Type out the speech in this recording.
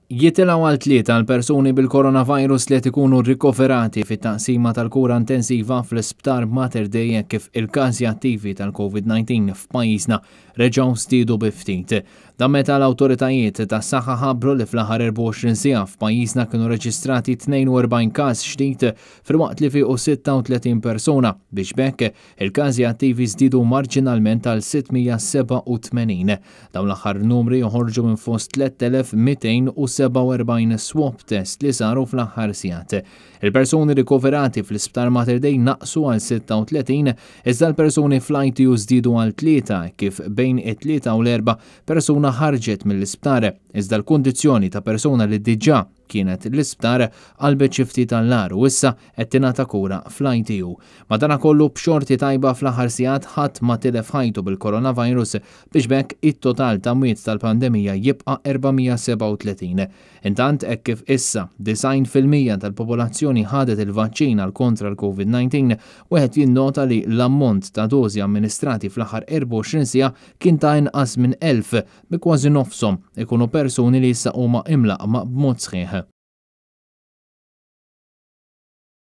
Jitilgħu għal tlieta l-persuni bil-coronavirus li qed ikunu rikoverati fit-taqsima tal-kura intensiva fl-Isptar Mater Dei hekk kif il-każi attivi tal-COVID-19 f'pajjiżna reġgħu żdiedu bi ftit. Dan meta l-awtoritajiet tas-saħħa ħabbru li fl-aħħar 24 siegħa f'pajjiżna kienu reġistrati 42 każ ġdid filwaqt li fiequ 36 persuna biex b'hekk Il-każi attivi żdiedu marġinalment għal 687. Dawn l-aħħar numri joħorġu minn fost 3,247 swab test li saru fl-aħħar sigħat. Il-persuni rikoverati fl-Isptar Mater Dei naqsu għal 36, iżda l-persuni fl-ITU żdiedu għal tlieta kif bejn it-Tlieta u l-Erbgħa persuna ħarġet mill-isptar, iżda l-kundizzjoni ta' persuna li diġà kienet l-isptar qalbet xi ftit għall-agħar u issa qed tingħata kura fl-ITU. Madanakollu b'xorti tajba fl-aħħar sigħat ħadd ma tilef ħajtu bil-coronavirus biex b'hekk it-total ta' mwiet tal-pandemija jibqa' 437. Intant hekk kif issa 90% tal-popolazzjoni ħadet il-vaċċin għal kontra l-COVID-19, wieħed jinnota li l-ammont ta' dożi amministrati fl-aħħar 24 siegħa kien ta' inqas minn 1,000 bi kważi nofshom ikunu persuni li issa huma imlaqqma b'mod sħiħ.